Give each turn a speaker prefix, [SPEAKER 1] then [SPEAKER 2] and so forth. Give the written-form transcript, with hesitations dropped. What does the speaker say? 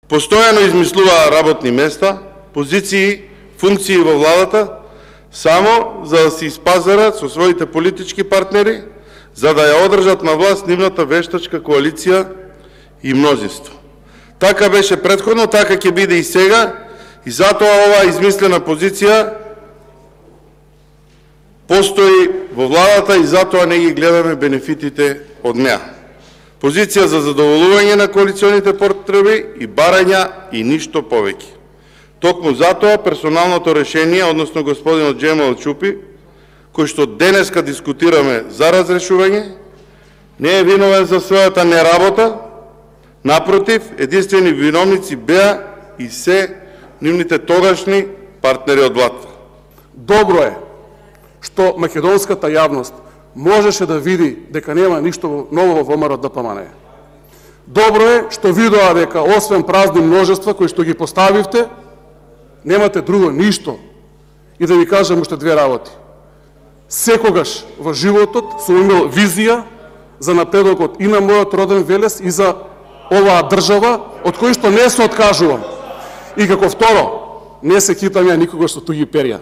[SPEAKER 1] Постојано измислуваа работни места, позиции, функции во владата, само за да се испазарат со своите политички партнери, за да ја одржат на власт нивната вештачка коалиција и мнозинство. Така беше претходно, така ќе биде и сега, и затоа оваа измислена позиција постои во владата и затоа не ги гледаме бенефитите од неа. Позиција за задоволување на коалиционите потреби и барања и ништо повеќе. Токму затоа персоналното решение, односно господинот Џемал Чупи, кој што денеска дискутираме за разрешување, не е виновен за својата неработа, напротив, единствени виновници беа и се нивните тогашни партнери од владата.
[SPEAKER 2] Добро е што македонската јавност можеше да види дека нема ништо ново во ВМРО ДПМНЕ. Добро е што видоа дека освен празни множества кои што ги поставивте, немате друго ништо. И да ви кажам уште две работи. Секогаш во животот сум имал визија за напредокот и на мојот роден Велес и за оваа држава, од кој што не се откажувам. И како второ, не се китам ја никогаш со туги перја.